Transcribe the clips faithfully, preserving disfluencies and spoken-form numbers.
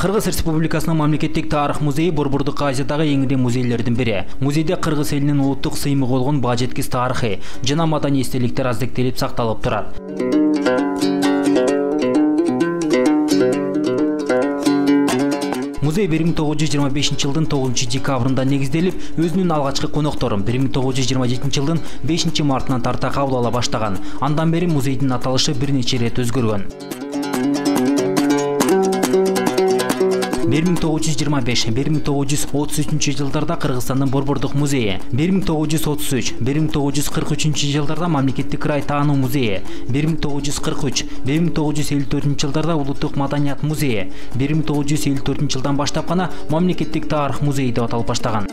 Кыргыз Республикасынын мамлекеттик тарых музейи Борбордук Азиядагы эң ири музейлердин бири. Музейде кыргыз элинин улуттук сыймыгы болгон баа жеткис тарыхый жана маданий эстеликтер аздектелип сакталып турат. Музей бир миң тогуз жүз жыйырма бешинчи жылдын тогузунчу декабрында негизделип, өзүнүн алгачкы конокторун бир миң тогуз жүз жыйырма жетинчи жылдын бешинчи мартынан тарта кабыл ала баштаган. Андан бери музейдин аталышы бир нече ирет өзгөргөн. бир миң тогуз жүз жыйырма беш — бир миң тогуз жүз отуз үчүнчү жылдарда Кыргызстандын Борбордук музейи, бир миң тогуз жүз отуз үч — бир миң тогуз жүз кырк үчүнчү жылдарда Мамлекеттик край таануу музейи, бир миң тогуз жүз кырк үч — бир миң тогуз жүз элүү төртүнчү жылдарда Улуттук маданият музейи, бир миң тогуз жүз элүү төртүнчү жылдан баштап гана Мамлекеттик тарых музейи деп аталып баштаган.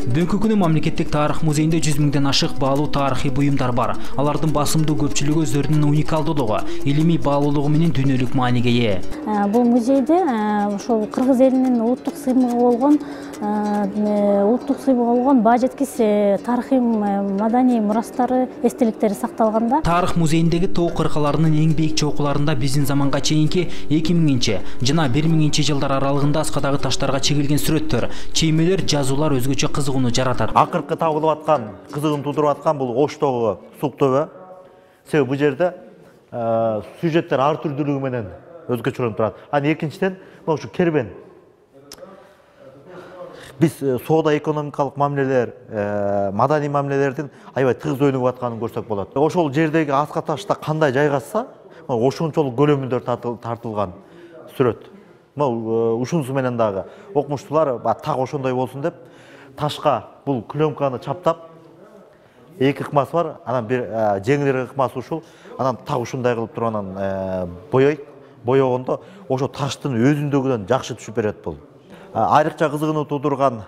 Бүгүнкү күнү Мамлекеттик тарых музейинде жүз миңден ашык баалуу тарыхый буюмдар бар. Алардын басымдуу көпчүлүгү өздөрүнүн уникалдуулугу, илимий баалуулугу менен дүйнөлүк мааниге ээ. Бул музейде ошол кыргыз элинин улуттук сыймыгы болгон улуттук сыймыгы болгон баа жеткис тарыхый маданий мурастары, эстеликтери сакталганда. Тарых музейиндеги тоо кыркаларынын эң бийик чокуларында биздин заманга чейинки эки миңинчи жана бир миңинчи жылдар аралыгында аскадагы таштарга чегилген сүрөттөр, чеймелер, жазуулар өзгөчө кызыгууну жаратат. Акыркы табылып аткан, кызыгын туудуруп аткан бул Оштогу сук төбө. Себеби бул жерде сюжеттер ар түрдүүлүгү менен өзгөчөлөнүп турат. Анан экинчиден ошо кербен. Биз соода экономикалык мамилелер, маданий мамилелердин аябай тыгыз өнүгүп атканын көрсөк болот. Ошол жердеги аска ташта кандай жайгашса, ошончолук көлөмүндө тартылган сүрөт. Ушунусу менен дагы окумуштуулар так ошондой болсун деп ташка бул клёнканы чаптап, эки ыкмасы бар, анан бир жеңилирээк ыкмасы ушул, анан так ушундай кылып туруп анан боёйт. Боёгондо ошо таштын өзүндөгүдөн жакшы түшүп берет бул. Айрыкча кызыгууну туудурган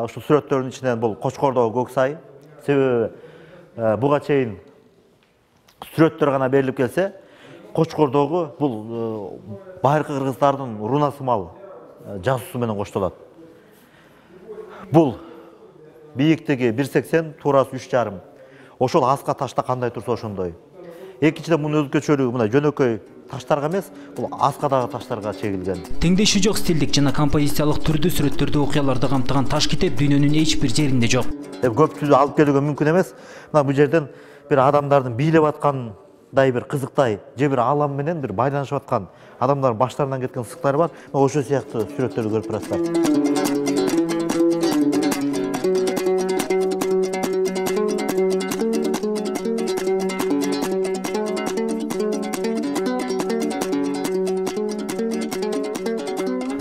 ушул сүрөттөрдүн ичинен бул Кочкордогу көк сай. Себеби буга чейин сүрөттөр гана берилип келсе, Кочкордогу бул байыркы кыргыздардын руна сымал жазуусу менен коштолот. Бул бийиктиги бир сексен, туурасы үч жарым. Ошол аска ташта кандай турса ошондой. Экинчиден мунун өзгөчөлүгү мына жөнөкөй таштарга эмес, бул аскадагы таштарга чегилген. Теңдеши жок стилдик жана композициялык түрдүү сүрөттөрдү, окуяларды камтыган таш китеп дүйнөнүн эч бир жеринде жок. Көпчүлүгү алып келүүгө мүмкүн эмес. Мына бул жерден бир адамдардын бийлеп аткандай бир кызыктай, же бир алам менен бир байланышып аткан адамдардын баштарынан кеткен сызыктары бар. Ошол сыяктуу сүрөттөрдү көрүп турасыздар.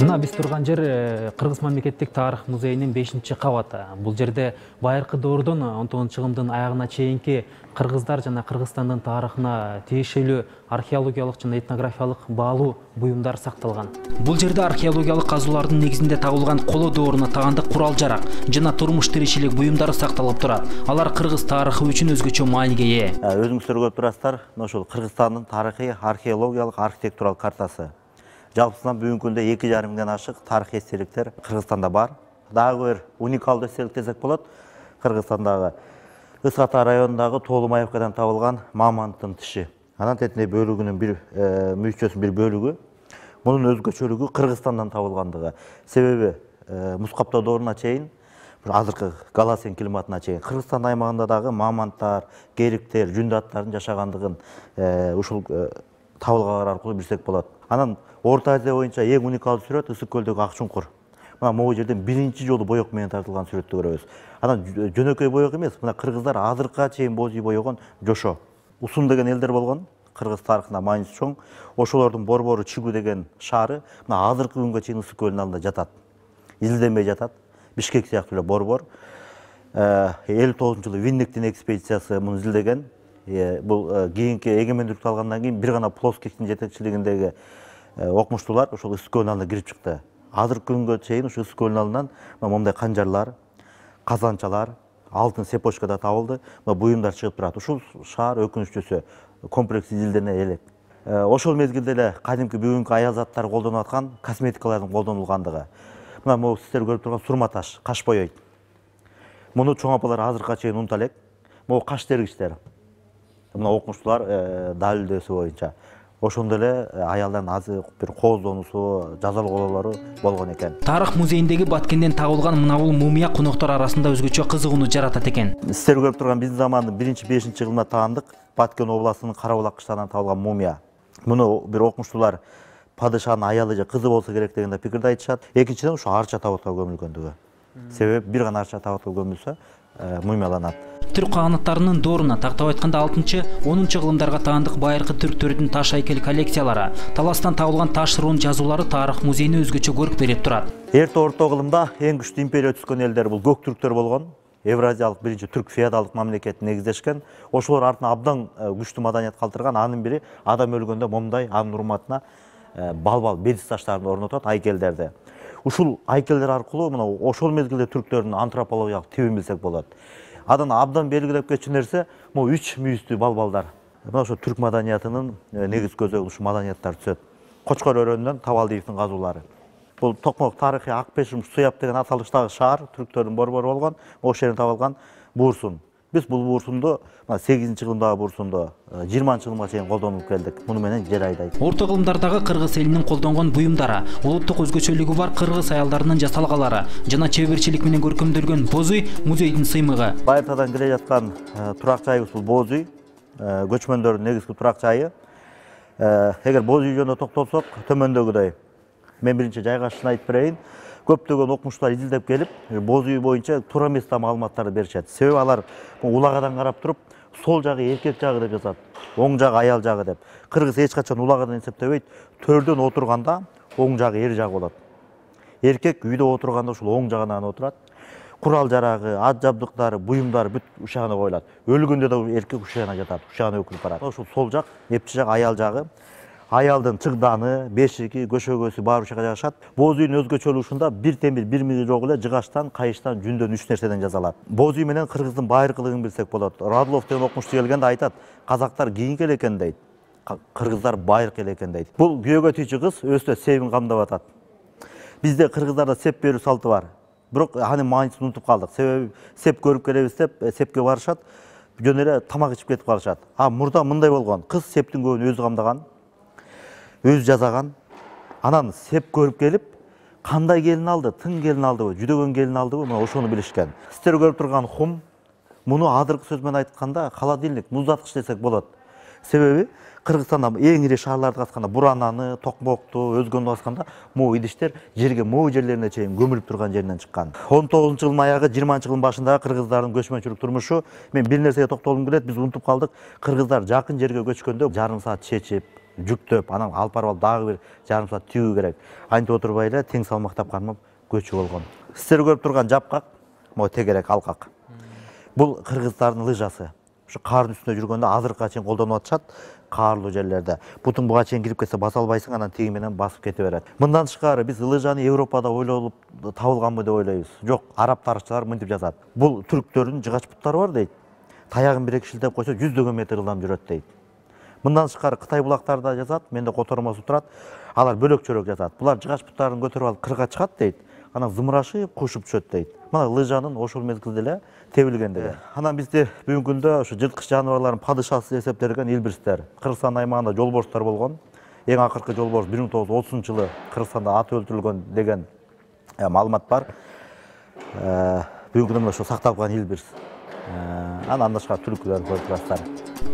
Мына биз турган жер Кыргыз мамлекеттик тарых музейинин бешинчи кабаты. Бул жерде байыркы доордон он тогузунчу чыгымдын аягына чейинки кыргыздар жана Кыргызстандын тарыхына тиешелүү археологиялык жана этнографиялык баалуу буюмдар сакталган. Бул жерде археологиялык казуулардын негизинде табылган коло дооруна тагандык курал-жарак жана турмуш тиричилик буюмдары сакталып турат. Алар кыргыз тарыхы үчүн өзгөчө мааниге ээ. Өзүңүздөр көрүп турасыздар, ошол Кыргызстандын тарыхый, археологиялык, архитектуралык картасы. Жалпысынан бүгүнкү күндө эки жарым миңден ашык тарыхый эстеликтер Кыргызстанда бар. Дагы бир уникалдуу эстелик десек болот. Кыргызстандагы Ысык Ата районундагы Тоолу Маевкадан табылган мамонттун тиши. Анан тетине бөлүгүнүн бир мүйчөсүнүн бир бөлүгү. Мунун өзгөчөлүгү Кыргызстандан табылгандыгы. Себеби Мускаптоо дооруна чейин, азыркы Галасин климатына чейин Кыргызстан аймагында дагы мамонттар, кериктер, жүндү аттардын жашагандыгын ушул табылгалар аркылуу билсек болот. Анан Орто Азия боюнча эң уникалдуу сүрөт Ысык көлдөгү ак чуңкур. Мына могу жерден биринчи жолу боек менен тартылган сүрөттү көрөбүз. Анан жөнөкөй боек эмес, мына кыргыздар азыркыга чейин боз үй боегон жошо. Усун деген элдер болгон, кыргыз тарыхында мааниси чоң. Ошолордун борбору Чигу деген шаары мына азыркы күнгө чейин Ысык көлдүн алдында жатат. Изилденбей жатат. Бишкек сыяктуу эле борбор. элүү тогузунчу жылы Винниктин экспедициясы муну изилдеген. Бул кийинки эгемендүүлүктү алгандан кийин бир гана Плоскиктин жетекчилигиндеги окумуштуулар ошол Ысык көлдүн алдына кирип чыкты. Азыркы күнгө чейин ушул Ысык көлдүн алдынан мондай канжарлар, казанчалар, алтын цепочкада табылды. Буюмдар чыгып турат. Ушул шаар өкүнүчтүүсү комплекс изилдене элек. Ошол мезгилде эле кадимки бүгүнкү аял заттар колдонуп аткан косметикалардын колдонулгандыгы. Мына могу сиздер көрүп турган сурма таш, каш боёйт. Муну чоң апалар азыркыга чейин унута элек. Могу каш тергичтер. Мына окумуштуулар далилдөөсү боюнча ошондой эле аялдардын азыр бир кооздонуусу, жазалоолору болгон экен. Тарых музейиндеги Баткенден табылган мынабул мумия коноктор арасында өзгөчө кызыгууну жаратат экен. Сиздер көрүп турган биздин замандын биринчи бешинчи жылына таандык Баткен областынын Карабулак кыштагынан табылган мумия. Муну бир окумуштуулар падышанын аялы же кызы болсо керек деген пикирди айтышат. Экинчиден ушу арча табытка көмүлгөндүгү. Себеби бир гана арча табытка көмүлсө мумияланат. Түрк каганаттарынын дооруна тактап айтканда алтынчы онунчу кылымдарга таандык байыркы түрктөрдүн таш айкел коллекциялары, таластан табылган таш рун жазуулары тарых музейине өзгөчө көрк берип турат. Эрте орто кылымда эң күчтүү империя түзгөн элдер бул көк түрктөр болгон. Евразиялык биринчи түрк феодалдык мамлекетин негиздешкен. Ошолор артына абдан күчтүү маданият калтырган. Анын бири адам өлгөндө момундай анын урматына балбал бедис таштарын орнотот, айкелдерди. Ушул айкелдер аркылуу мына ошол мезгилде түрктөрдүн антропологиялык тибин билсек болот. Адан абдан белгилеп кетчү нерсе могу үч мүйүздүү балбалдар. Мына ошо түрк маданиятынын негиз көзү ушу маданияттар түзөт. Кочкор өрөөнүнөн Табалдиевдин казуулары. Бул Токмок тарыхый Акпешим Суяб деген аталыштагы шаар түрктөрдүн борбору болгон. Ошол жерден табылган буурсун. Биз бул буурсунду сегизинчи кылымдагы буурсунду жыйырманчы кылымга чейин колдонуп келдик. Муну менен жер айдайт. Орто кылымдардагы кыргыз элинин колдонгон буюмдары, улуттук өзгөчөлүгү бар кыргыз аялдарынын жасалгалары жана чеберчилик менен көркөмдөлгөн боз үй музейдин сыймыгы. Байыртадан келе жаткан турак жайыбыз бул боз үй, көчмөндөрдүн негизги турак жайы. Эгер боз үй жөнүндө токтолсок, төмөндөгүдөй. Мен биринчи жайгашышын айтып берейин. Көптөгөн окумуштуулар изилдеп келип, боз үй боюнча туура эмес маалыматтарды беришет. Себеби алар улагадан карап туруп, сол жагы эркек жагы деп жазат, оң жагы аял жагы деп. Кыргыз эч качан улагадан эсептебейт. Төрдөн отурганда оң жагы эр жагы болот. Эркек үйдө отурганда ушул оң жагынан отурат. Курал жарагы, ат жабдыктары, буюмдары бүт ушагына коюлат. Өлгөндө да эркек ушагына жатат, ушагына өкүлүп барат. Ушул сол жак, эпчи жак аял жагы. Аялдын чыгданы, бешиги, көшөгөсү баары ушага жагышат. Боз үйдүн өзгөчөлүгү бир темир, бир миги жок эле жыгачтан, кайыштан, жүндөн үч нерседен жасалат. Боз үй менен кыргыздын байыркылыгын билсек болот. Радлов деген окумушту келгенде айтат, казактар кийинки эле экен дейт. Кыргыздар байыркы эле экен дейт. Бул күйөөгө тийчү кыз өстө себин камдап атат. Бизде кыргыздарда сеп берүү салты бар. Бирок анын маанисын унутуп калдык. Себеби сеп көрүп келебиз деп сепке барышат, жөн эле тамак ичип кетип калышат. А мурда мындай болгон. Кыз септин көбүн өзү камдаган. Өз жазаган, анан сеп көрүп келип, кандай келин алды, тың келин алдыбы, жүдөгөн келин алдыбы, мына ошону билишкен. Сиздер көрүп турган хум, муну азыркы сөз менен айтканда холодильник, муздаткыч десек болот. Себеби Кыргызстанда эң ири шаарларды катканда, Бурананы, Токмокту, өзгөнү басканда, могу идиштер жерге могу жерлерине чейин көмүлүп турган жеринен чыккан. он тогузунчу жылдын аягы, жыйырманчы жылдын башындагы кыргыздардын көчмөнчүлүк турмушу, мен бир нерсеге токтолгум келет, биз унутуп калдык. Кыргыздар жакын жерге көчкөндө жарым саат чечип, жүктөп, анан алып барып дагы бир жарым саат түйүү керек. Антип отурбай эле тең салмактап кармап көчүп болгон. Сиздер көрүп турган жапкак, могу тегерек алкак. Бул кыргыздардын лыжасы. Ушу каардын үстүндө жүргөндө азыркыга чейин колдонуп атышат, каарлуу жерлерде. Бутун буга чейин кирип кетсе баса албайсың, анан тиги менен басып кете берет. Мындан тышкары биз лыжаны Европада ойлонуп табылганбы деп ойлойбуз. Жок, араб тарыхчылар мынтип жазат. Бул түрктөрдүн жыгач буттары бар дейт. Таягын бир эки шилтеп койсо жүздөгөн метр ылдам жүрөт дейт. Мындан тышкары Кытай булактарда жазат, менде котормосу турат. Алар бөлөк-чөлөк жазат. Булар жыгач буттарын көтөрүп алып кырга чыгат дейт. Анан зымырашып, кушуп түшөт дейт. Мына лыжанын ошол мезгилде эле тебилген деген. Анан бизде бүгүнкү күндө ушу жырткыч жаныбарлардын падышасы эсептелген илбирстер. Кыргызстан аймагында жолборстор болгон. Эң акыркы жолборс бир миң тогуз жүз отузунчу жылы Кыргызстанда аты өлтүрүлгөн деген маалымат бар. Бүгүнкү күндө ошо сакталып калган илбирс. Анан башка түлкүлөр көрүп турасыздар.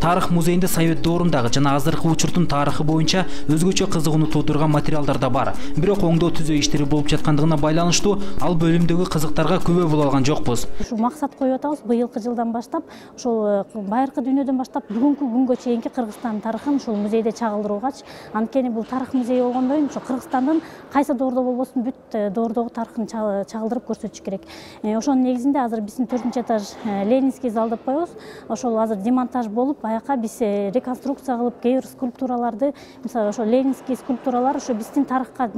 Тарых музейинде Совет доорундагы жана азыркы учурдун тарыхы боюнча өзгөчө кызыгууну туудурган материалдар да бар. Бирок оңдоо түзөө иштери болуп жаткандыгына байланыштуу ал бөлүмдөгү кызыктарга күбө боло алган жокпуз. Ушу максат коюп атабыз, быйылкы жылдан баштап, ошол байыркы дүйнөдөн баштап бүгүнкү күнгө чейинки Кыргызстан тарыхын ушул музейде чагылдыруугач, анткени бул тарых музейи болгондон ошо Кыргызстандын кайсы доордо болбосун бүт доордогу тарыхын чагылдырып көрсөтүш керек. Ошонун негизинде азыр биздин төртүнчү этаж Ленинский зал деп коебуз. Ошол азыр демонтаж болуп, аяка биз реконструкция кылып, кээ бир скульптураларды, мисалы ошо Ленинский скульптуралар ошо биздин тарыхка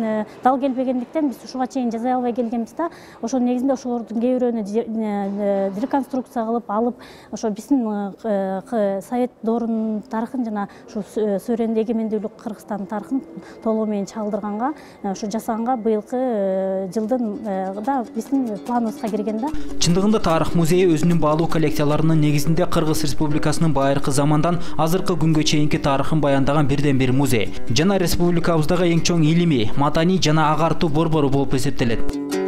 дал келбегендиктен биз ушуга чейин жасай албай келгенбиз да. Ошонун негизинде ошолордун кээ бирөөнү реконструкция кылып алып, ошо биздин Совет доорунун тарыхын жана ушу суверендик эгемендүүлүк Кыргызстандын тарыхын толугу менен чагылдырганга, ошо жасаганга быйылкы жылдын да биздин планыбызга кирген да. Чындыгында тарых музейи өзүнүн баалуу коллекцияларынын негизинде Кыргыз Республикасынын байыркы замандан азыркы күнгө чейинки тарыхын баяндаган бирден бир музей жана республикабыздагы эң чоң илимий, маданий жана агартуу борбору болуп эсептелет.